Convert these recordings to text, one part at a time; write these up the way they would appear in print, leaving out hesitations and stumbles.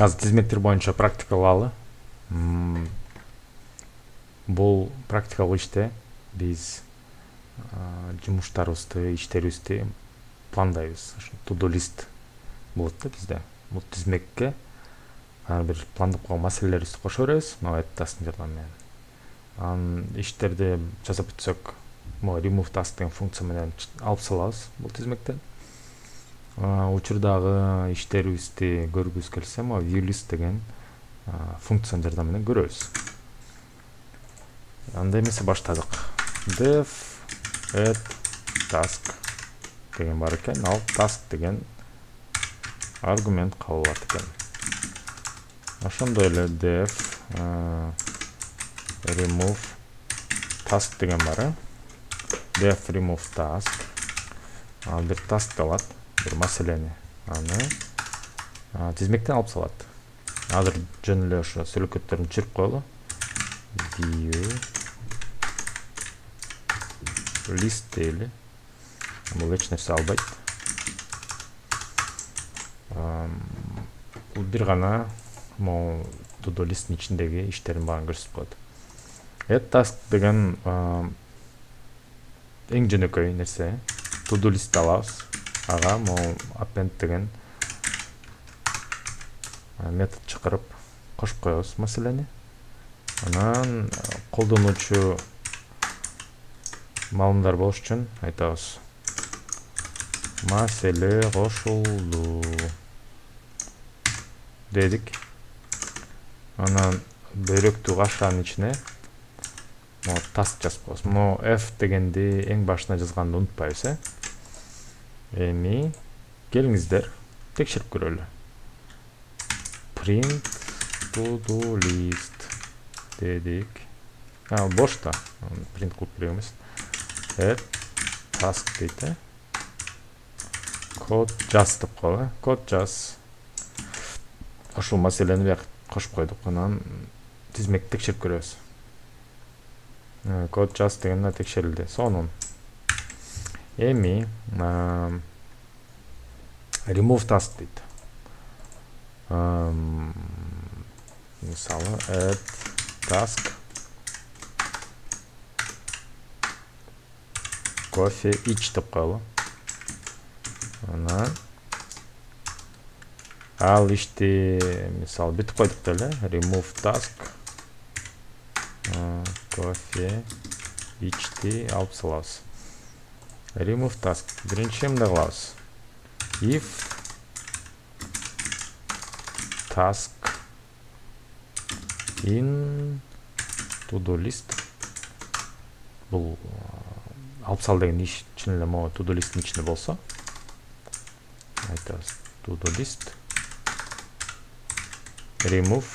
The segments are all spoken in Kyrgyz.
Азыр тизмектер боюнча практикалалы. Бул практикалык иште биз жумуштарыбызды, иштерибизди пландайбыз. To-do list болот да бизде. Бул тизмекке ар бир пландап койгон маселелерибизди кошо беребиз, мына task жардамы менен. Анан иштерди жасап бүтсөк, могу remove task деген функция менен алып салабыз бул тизмектен. Учурдагы иштерибизди көргүбүз келсе, могу view list деген функциянын жардамы менен көрөбүз. Анда эмесе баштадык. Def add task деген бар экен. Ал task деген аргумент кабыл алат экен. Ошондой эле def remove task деген бар. Def remove task. Ал бир task алат, бир маселени. Аны тизмектен алып салат. Азыр жөн эле ошо сүйлөкөттөрүн чырып коелу. View list дейли. Бул эч нерсе албайт. Бул бир гана могу to-do listin ичиндеги иштердин баарын көрсөтүп коет. Add task деген эң жөнөкөй нерсе. To-do list алабыз. Ага могу append деген метод чакырып кошуп коебуз маселени. Анан колдонуучу маалымдар болуш үчүн айтабыз. Маселе кошулду дедик. Анан бөйрөктү кашанын ичине task жазып коебуз. Могу F дегенди эң башына жазганды унутпайбыз, Эми келиңиздер текшерип көрөлү. Print to-do list дедик. Бош да. Print кылып беребиз. Add task дейт. Код жаз деп коелу. Код жаз. Ошол маселени бияк кошуп койдук. Анан тизмек текшерип көрөбүз. Код жаз деген текшерилди. Сонун. Эми remove task дейт. Мисалы add task кофе ич деп коелу. Анан ал ишти мисалы бүтүп койдук деле. Remove task кофе ичти алып салабыз. Remove task. Биринчи эмне кылабыз? If task in to-do list. Бул алып сал деген иш чын эле могу to-do listin ичинде болсо, айтабыз to-do list remove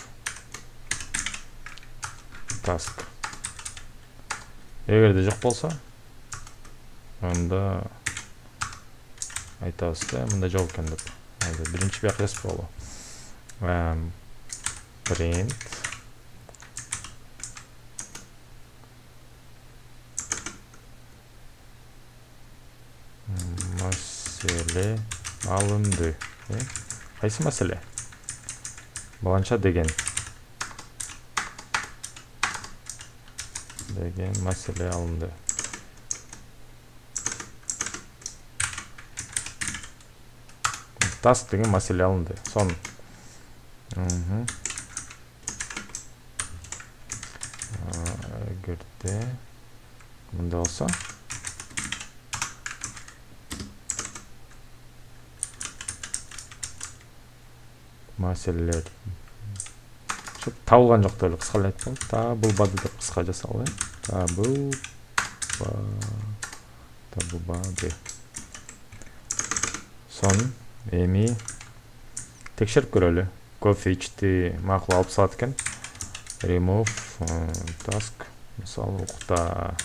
task. Эгерде жок болсо, анда айтабыз да, мында жок экен деп. Биринчи бияк жазып коелу. Print маселе алынды. Кайсы маселе? Баланча деген маселе алынды. Task деген маселе алынды. Сон. Эгерде мында болсо, маселелер табылган жок деп кыскалай айткан. Табылбады деп кыска жасалы. Табылбады. Сон. Эми текшерип көрөлү. Кофе ичти макул алып салат экен. Remove task. Мисалы укта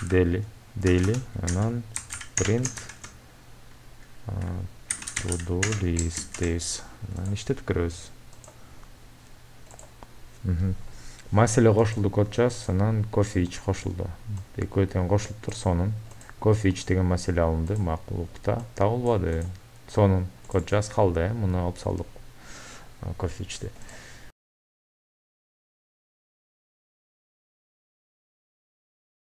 дейли. Анан print to-do list дейбиз. Анан иштетип көрөбүз. Маселе кошулду, код жаз. Анан кофе ич кошулду. Экөө тең кошулуптур. Сонун кофе ич деген маселе алынды. Макул укта табылбады. Сонун код жаз калды. Муну алып салдык. кофе ичти.